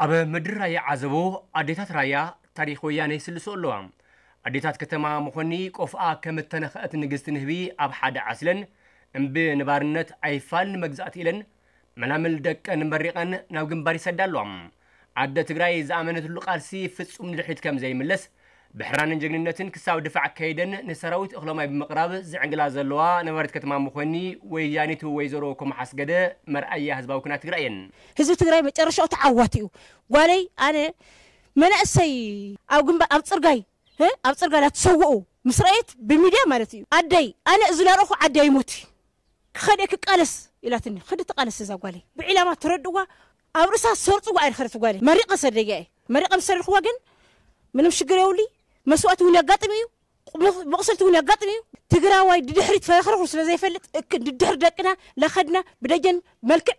ኣብ ምድሪ ራያ ዓዘቦ ኣዴታት ራያ ታሪኽ ወያነ ይስልሶ ኣለዋ። ኣዴታት ከተማ መኾኒ ቆፍኣ ከም እተነኽአት ንግስቲ ንህቢ ኣብ ሓደ ዓስለን እምቢ ንባርነት ኣይፋል ንመግዛእቲ ኢለን መላምል ደቀን መሪቐን ናብ ግንባር ይሰዳ ኣለዋ። ኣደ ትግራይ ዝኣመነትሉ ቃልሲ ፍጹም ንድሕሪት ከም ዘይምለስ ብሕራንን ጀግንነትን ክሳብ ድፋዕ ከይደን ንሰራዊት እኽሎማይ ብምቕራብ ዝዕንግላ ዘለዋ ነባሪት ከተማ መኾኒ ወያኒት ወይዘሮ ኮማ ሓስገደ መርኣያ ህዝባዊ ኩናት ትግራይ እየን። ህዝቢ ትግራይ መጨረሻኡ ተዓዋቲ እዩ። ጓለይ ኣነ መናእሰይ ኣብ ግንባር ኣብ ፅርጋይ እ ኣብ ፅርጋይ ላትሰውኡ ምስ ረአየት ብሚድያ ማለት እዩ ኣደይ ኣነ እዚ ላረኹ ዓዲ ኣይሞት ክኸደ ክቃለስ ኢላትኒ። ክዲ ተቃለስ እዛ ጓለይ ብዒላማ ተረድዋ ኣብ ርእሳ ሰርፅዋ ኣይንኸረት ጓለይ መሪቐ ሰደያ እየ። መሪቐ ምስ ሰደድክዋ ግን ምንም ሽግር የውሊ መስዋእቲ እውን ያጋጥም እዩ። መቕሰልቲ እውን ያጋጥም እዩ። ትግራዋይ ድድሕሪት ፈረኽረኹ ስለ ዘይፈልጥ እክ ድድሕሪ ደቅና ላኸድና ብደጀን መልክዕ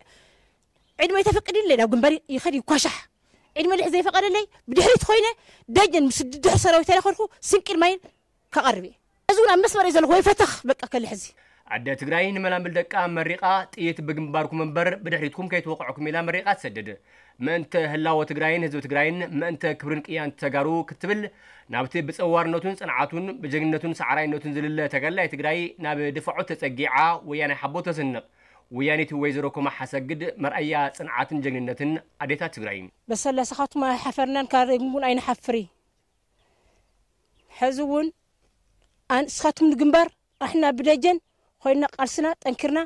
ዕድመ ይተፈቅድለይ ናብ ግንባር ይኸድ ይኳሻሕ። ዕድመ ልሕ ዘይፈቀደለይ ብድሕሪት ኮይነ ደጀን ምስ ድድሕሪ ሰራዊት ተለኸድኩ ስንቅን ማይን ከቐርብ እየ። እዚ እውን ኣብ መስመር እየ ዘለኹ ወይ ፈተኽ በቃ ከልሕ እዚ ኣደ ትግራይ ንመላምል ደቃ መሪቓ ጥይት ብግንባርኩም እምበር ብድሕሪትኩም ከይትወቕዕኩም ኢላ መሪቓ ትሰድድ። ምእንተ ህላወ ትግራይን ህዝቢ ትግራይን ምእንተ ክብርን ቅያን ተጋሩ ክትብል ናብቲ ብፀዋርነቱን ፅንዓቱን ብጀግንነቱን ሰዓራይነቱን ዝልለ ተጋዳላይ ትግራይ ናብ ድፋዑ ተፀጊዓ ወያናይ ሓቦ ተስንቕ። ወያኒት ወይዘሮ ኮማ ሓሰግድ መርኣያ ፅንዓትን ጀግንነትን ኣዴታት ትግራይ። በሰላ ስኻትኩም ኣይሓፈርናን ካረግሙን ኣይንሓፍር እዩ። ሕዚ እውን ኣንስኻትኩም ንግንባር ኣሕና ብደጀን ኮይና ቃልስና ጠንኪርና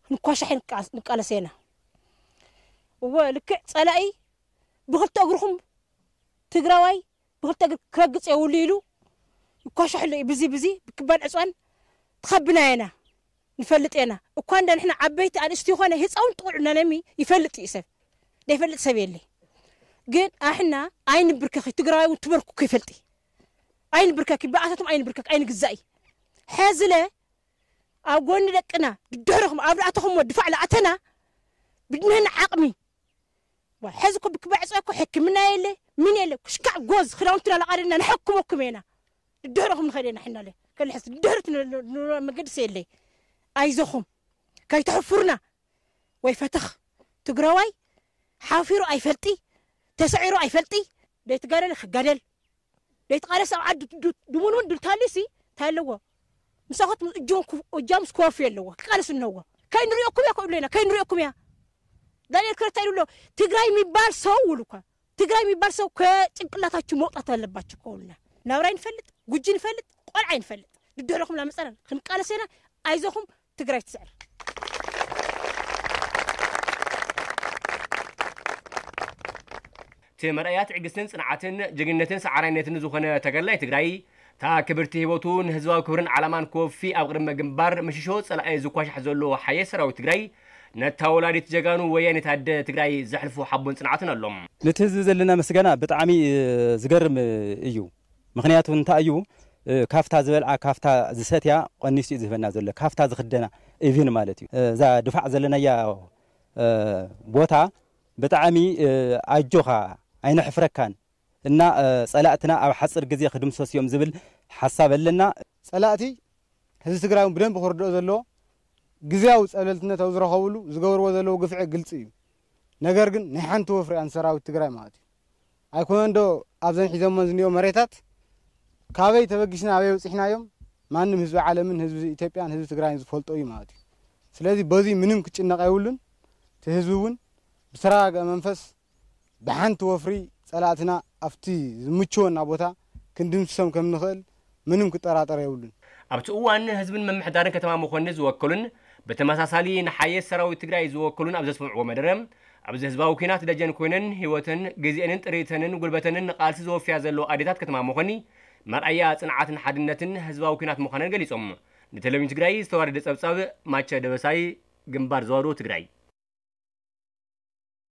ክንኳሻሕ ንቃለስ ኢና። እወ ልክዕ ፀላኢ ብክልተ እግርኹም ትግራዋይ ብክልተ እግር ክረግፅ የብሉ ኢሉ ይኳሻሕ ኣሎ እዩ። ብዚ ብዚ ብክባን ዕፅዋን ትኸብና ኢና ንፈልጥ ኢና። እኳ እንደ ንሕና ዓበይቲ ኣንስቲ ይኾነ ህፃውንቲ ቆልዑ ነነሚ ይፈልጥ እዩ ሰብ ደይፈልጥ ሰብ የለ። ግን ኣሕና ኣይንብርከኺ ትግራዋይ እውን ትበርኩ ይፈልጥ ኣይንብርከኪ ብኣታቶም ኣይንብርከክ ኣይንግዛእ እዩ። ሕዝለ ኣብ ጎኒ ደቅና ድድሕርኹም ኣብ ላእተኹም ድፋዕ ላእተና ብድነን ዓቕሚ ሕዚ እኮ ብክባዕ ዕፅዋ እኮ ሕክምና የለ ምን የለ ክሽካዕ ጎዝ ክዳውንትና ላቃደና ንሐክመኩም ኢና። ድድሕርኹም ንኸደና ሕናለ ከልሕስ ድድሕርት መገድስ የለ። ኣይዞኹም ከይተሕፍሩና ወይ ፈተኽ ትግራዋይ ሓፊሩ ኣይፈልጢ ተሰዒሩ ኣይፈልጢ ደይትጋደል ክጋደል ደይትቃለስ ኣብ ዓዲ ድሙንውን ድልታሊሲ እንታይ ኣለዎ ምሳኹት እጃምስ ክወፍዩ ኣለዎ ክቃለስ እነዎ ከይንሪኦኩም እያ ክብሉ ኢና ከይንሪኦኩም እያ ዳንኤል ክረታ ኢሉ ኣሎ ትግራይ የሚባል ሰው ውሉ እኳ ትግራይ የሚባል ሰው ከጭንቅላታችሁ መውጣት አለባችሁ ከሆነ ናብራይ ንፈልጥ ጉጂ ንፈልጥ ቆልዓ ይንፈልጥ ድድሕረኹም ላመፀና ክንቃለስ ኢና ኣይዞኹም ትግራይ ትስዕር እቲ መርኣያ ትዕግስትን ፅንዓትን ጅግንነትን ሰዓራይነትን ዝኾነ ተጋዳላይ ትግራይ እታ ክብርቲ ህይወቱ ንህዝባዊ ክብርን ዓላማን ክወፊ ኣብ ቅድመ ግንባር ምሽሾ ፀላኢ ዝኳሻሕ ዘሎ ሓየ ሰራዊት ትግራይ ነታ ወላዲት ጀጋኑ ወያኔት ኣደ ትግራይ ዘሕልፎ ሓቦን ፅንዓትን ኣሎ። ነቲ ህዝቢ ዘለና ምስጋና ብጣዕሚ ዝገርም እዩ። ምኽንያቱ እንታይ እዩ? ካብታ ዝበልዓ ካብታ ዝሰትያ ቀኒሱ እዩ ዝህበና ዘሎ ካብታ ዝኽደና ኢቪን ማለት እዩ። እዛ ድፋዕ ዘለናያ ቦታ ብጣዕሚ ኣጆኻ ኣይነሕፍረካን እና ጸላእትና ኣብ ሓጽር ግዜ ክድምሰሱ እዮም ዝብል ሓሳብ ኣለና። ጸላእቲ ህዝቢ ትግራይ እውን ብደንቢ ክርድኦ ዘለዎ ግዝያዊ ጸብለልትነት ኣብ ዝረኸብሉ ዝገብርዎ ዘለዉ ግፍዒ ግልፂ እዩ። ነገር ግን ናይ ሓንቲ ወፍሪ እያ ንሰራዊት ትግራይ ማለት እዩ። ኣይኮነን ዶ ኣብዘን ሒዞሞ ዝኒኦ መሬታት ካበይ ተበጊስና ኣበይ በፂሕናዮም ማንም ህዝቢ ዓለምን ህዝቢ ኢትዮጵያን ህዝቢ ትግራይን ዝፈልጦ እዩ ማለት እዩ። ስለዚ በዚ ምንም ክጭነቕ የብሉን። እቲ ህዝቢ እውን ብተረጋግአ መንፈስ ብሓንቲ ወፍሪ ጸላእትና ኣብቲ ዝምችወና ቦታ ክንድምስሶም ከም ንኽእል ምንም ክጠራጠር የብሉን። ኣብቲ እዋን ህዝብን ምምሕዳርን ከተማ መኾኒ ዝወከሉን ብተመሳሳሊ ንሓየት ሰራዊት ትግራይ ዝወከሉን ኣብ ዘስምዕዎ መደረ ኣብዚ ህዝባዊ ኲናት ደጀን ኮይነን ህይወተን ግዜአንን ጥሪተንን ጉልበተንን ንቃልሲ ዘወፍያ ዘለዋ ኣዴታት ከተማ መኾኒ መርኣያ ፅንዓትን ሓድነትን ህዝባዊ ኲናት ምዃነን ገሊፆም። ንቴሌቪዥን ትግራይ ዝተዋደደ ፀብፃብ ማቸ ደበሳይ ግንባር ዘዋዶ ትግራይ።